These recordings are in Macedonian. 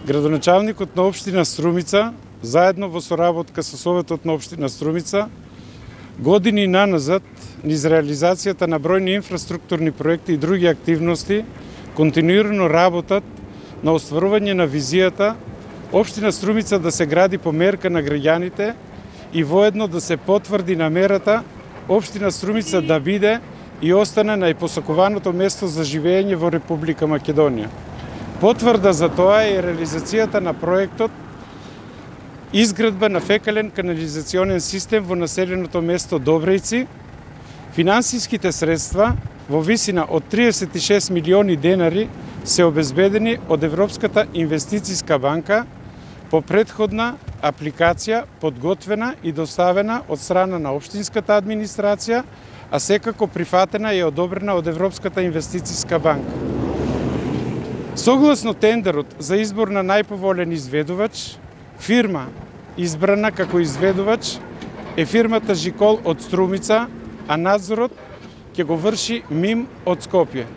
Градоначалникот на општина Струмица, заедно во соработка со Советот на општина Струмица, години наназад, низ реализацијата на бројни инфраструктурни проекти и други активности, континуирано работат на остварување на визијата општина Струмица да се гради по мерка на граѓаните и воедно да се потврди намерата општина Струмица да биде и остане најпосакуваното место за живење во Република Македонија. Потврда за тоа е реализацијата на проектот изградба на фекален канализационен систем во населеното место Добрејци. Финансиските средства во висина од 36 милиони денари се обезбедени од Европската инвестицијска банка по претходна апликација подготвена и доставена од страна на општинската администрација, а секако прифатена и одобрена од Европската инвестицијска банка. Согласно тендерот за избор на најповолен изведувач, фирма избрана како изведувач е фирмата Жикол од Струмица, а надзорот ќе го врши МИМ од Скопје.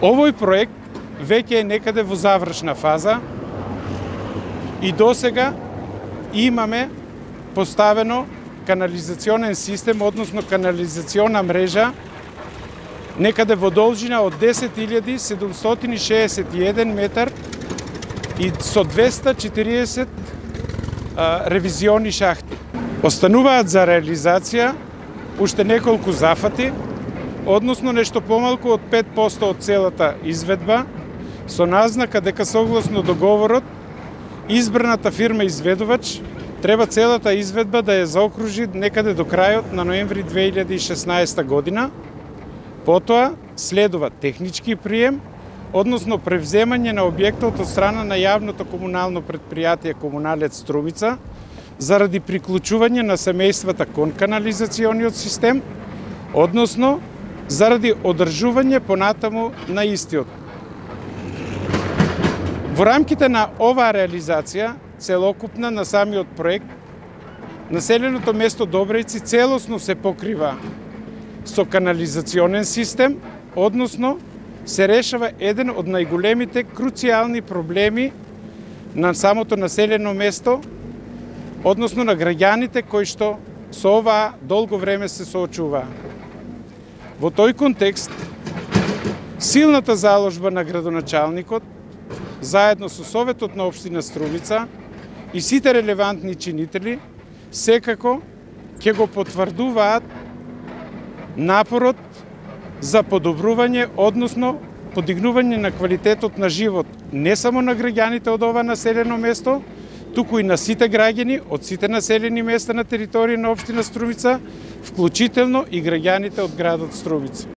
Овој проект веќе е некаде во завршна фаза и досега имаме поставено канализационен систем, односно канализациона мрежа, некаде во должина од 10.761 метар и со 240 ревизиони шахти. Остануваат за реализација уште неколку зафати, односно нешто помалку од 5% од целата изведба, со назнака дека согласно договорот избраната фирма изведувач треба целата изведба да ја заокружи некаде до крајот на ноември 2016 година. Потоа следува технички прием, односно превземање на објектот од страна на јавното комунално предпријатие Комуналец Струмица заради приклучување на семејствата кон канализациониот систем, односно заради одржување понатаму на истиот. Во рамките на оваа реализација, целокупна на самиот проект, населеното место Добрејци целосно се покрива со канализационен систем, односно се решава еден од најголемите круцијални проблеми на самото населено место, односно на граѓаните кои што со оваа долго време се соочуваа. Во тој контекст, силната заложба на градоначалникот, заедно со Советот на општина Струмица и сите релевантни чинители, секако ќе го потврдуваат напорот за подобрување, односно подигнување на квалитетот на живот не само на граѓаните од ова населено место, туку и на сите граѓани од сите населени места на територија на општина Струмица, вклучително и граѓаните од градот Струмица.